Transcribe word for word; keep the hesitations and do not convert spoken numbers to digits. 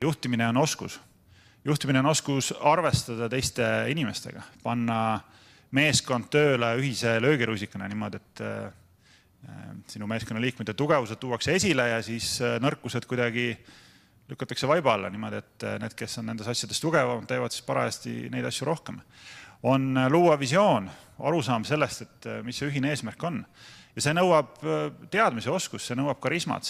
Juhtimine on oskus. Juhtimine on oskus arvestada teiste inimestega, panna meeskond tööle ühise löögirusikana niimoodi, et sinu meeskonna liikmete tugevused tuuakse esile ja siis nõrkused kuidagi lükatakse vaiba alla niimoodi, et need, kes on nendes asjades tugevam, teevad siis parajasti neid asju rohkem. On luua visioon, arusaam sellest, et mis see ühine eesmärk on. Ja see nõuab teadmise oskus, see nõuab karismat.